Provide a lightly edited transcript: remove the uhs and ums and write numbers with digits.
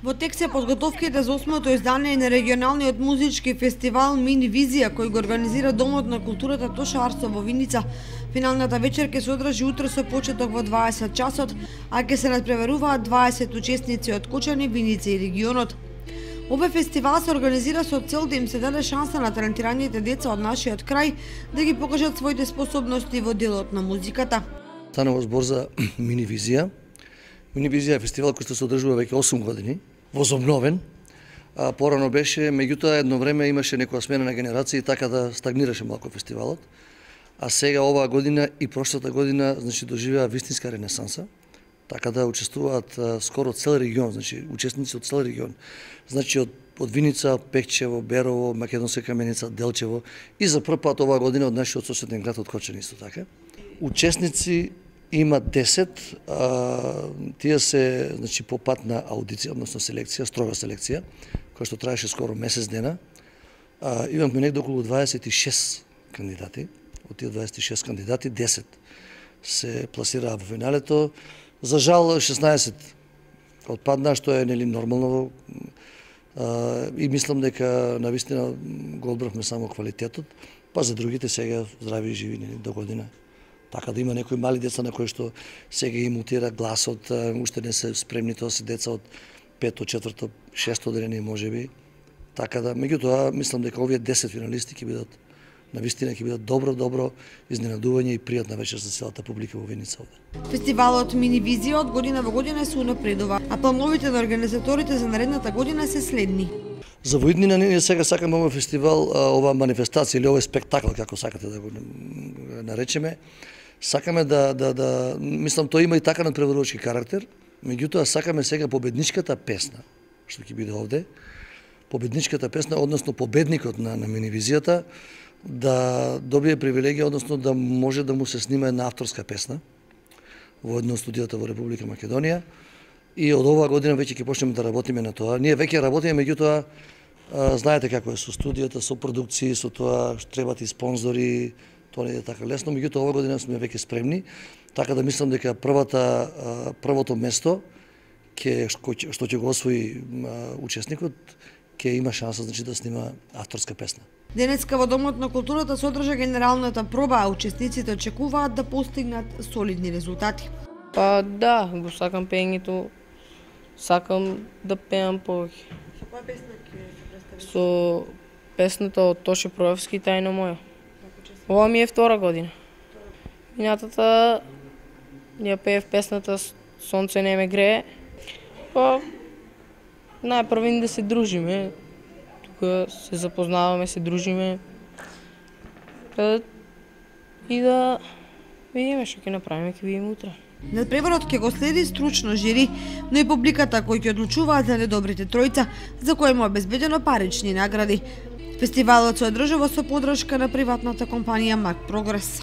Во тек се подготовките за 8-то издание на регионалниот музички фестивал Мини Визија, кој го организира Домот на културата Тоша Арсо во Виница. Финалната вечер ќе се одржи утре со почеток во 20 часот, а ќе се надпреваруваат 20 учесници од Кочани, Виница и регионот. Овој фестивал се организира со цел да им се даде шанса на талентираните деца од нашиот крај да ги покажат своите способности во делот на музиката. Станува збор за Мини Визија. Мини Визија е фестивал кој се одржува веќе 8 години, возобновен. Порано беше, меѓутоа едно време имаше некоја смена на генерации, така да стагнираше малку фестивалот. А сега оваа година и прошлата година, значи, доживеа вистинска ренесанса, така да учествуваат скоро цел регион, значи учесници од цел регион. Значи од Виница, Пекчево, Берово, Македонска Каменица, Делчево и за прв пат оваа година од нашиот соседен град од Кочани исто така. Учесници има 10, тие се, значи, по пат на аудиција, односно селекција, строга селекција, која што траеше скоро месец дена. Имавме негде околу 26 кандидати. Од тие 26 кандидати, 10 се пласираа во финалето. За жал, 16 отпадна, што е нели нормално. И мислам дека навистина го одбравме само квалитетот, па за другите сега здрави и живи нели до година. Така да има некои мали деца на кои што сега им мутира гласот, уште не се спремни, тоа се деца од 5-то, 4-то, 6-то одделение можеби. Така да, меѓутоа, мислам дека овие 10 финалисти ќе бидат навистина ќе бидат добро изненадување и пријатна вечер за целата публика во Виница овде. Фестивалот Мини Визија од година во година се унапредува, а плановите на организаторите за наредната година се следни. За во иднина ние сега сакаме овој фестивал, оваа манифестација или овој спектакл, како сакате да го наречеме, сакаме да мислам тоа има и така надпреварувачки карактер, меѓутоа сакаме сега победничката песна што ќе биде овде, победничката песна, односно победникот на Мини Визијата да добие привилегија, односно да може да му се снима една авторска песна во едно од студијата во Република Македонија. И од оваа година веќе ќе почнеме да работиме на тоа. Ние веќе работиме, меѓутоа знаете како е со студијата, со продукции, со тоа што требат и спонзори, тоа не е така лесно, меѓутоа оваа година сме веќе спремни, така да мислам дека првото место што ќе го освои учесникот ќе има шанса, значи, да снима авторска песна. Денеска во Домот на културата се одржа генералната проба, а учесниците очекуваат да постигнат солидни резултати. Па да, го сакам пеењето, сакам да пеам повеќе. Со која песна ќе се представиш? Со песната од Тоше Проевски Тајна моја. Ова ми е втора година. Минатата ја пеев песната Сонце не ме грее. Па најпрво да се дружиме. Тука се запознаваме, се дружиме. И да видиме што ќе направиме, ќе видиме утре. Надпреварот ќе го следи стручно жири, но и публиката кои ќе одлучуваат за недобрите тројца, за кои му обезбедено парични награди. Фестивалот се одржува со поддршка на приватната компанија Марк Прогрес.